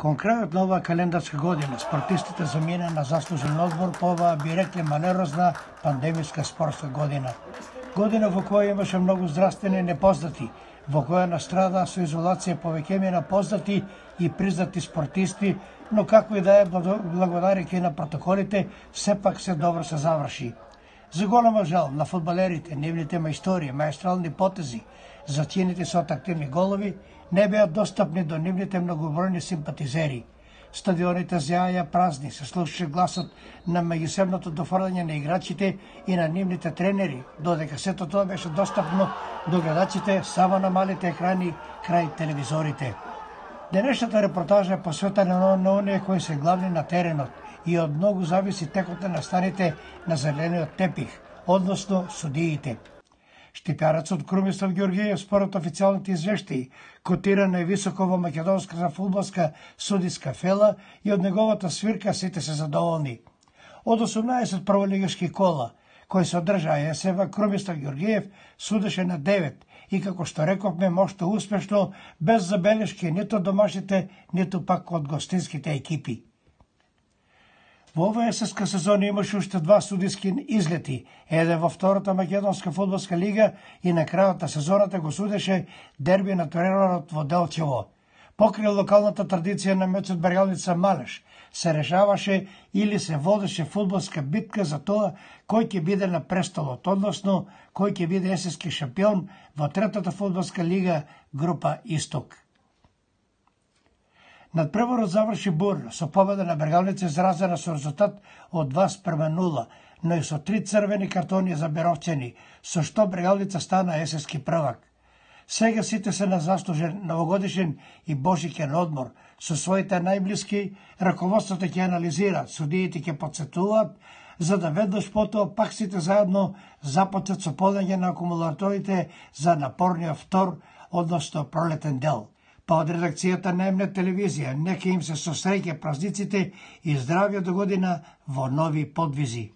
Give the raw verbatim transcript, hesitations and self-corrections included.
Кон крајот на оваа календарска година, спортистите замина на заслужен одмор по оваа, би рекле, малерозна пандемиска спортска година. Година во која имаше многу здравствени непознати, во која настрада со изолација повеќе на познати и признати спортисти, но како и да е, благодарејќи на протоколите, сепак се добро се заврши. За голема жал на фудбалерите, нивните мајстории, маестрални потези, зачинети со атактивни голови, не беа достапни до нивните многобројни симпатизери. Стадионите зеаја празни, се слушаше гласот на меѓусебното дофрлање на играчите и на нивните тренери, додека сето тоа беше достапно до гледачите само на малите екрани крај телевизорите. Денешната репортажа е посветена на оние кои се главни на теренот и од многу зависи текот на настаните на зелениот тепих, односно судиите. Штипјарецот Крумислав Ѓорѓиев, според официјалните извештаи, котира највисоко во македонската фудбалска судиска фела и од неговата свирка сите се задоволни. Од осумнаесет прволигашки кола, кои се одржаа есева, Крумислав Ѓорѓиев судеше на девет и, како што рековме, мошто успешно, без забелешки ниту од домашните, ниту пак од гостинските екипи. Во оваа есенска сезона имаше уште два судиски излети, еден во втората македонска фудбалска лига и на крајот на сезоната го судеше дерби на теренот во Делчево. Покрај локалната традиција на мечот Бергалница Малеш, се решаваше или се водеше фудбалска битка за тоа кој ќе биде на престолот, односно кој ќе биде есенски шампион во третата фудбалска лига група Исток. Надпреварот заврши бурно, со победа на Бергалница изразена со резултат од два спрема нула, но и со три црвени картони за беровчени, со што Бергалница стана есенски првак. Сега сите се на заслужен новогодишен и божиќен одмор, со своите најблиски, раководството ќе анализира, судиите ќе подсетуваат, за да веднаш потоа пак сите заедно започнат со полење на акумулаторите за напорниот втор, односно пролетен дел. Па од редакцијата на М Н телевизија, нека им се со среќа празниците и здравје до година во нови подвизи.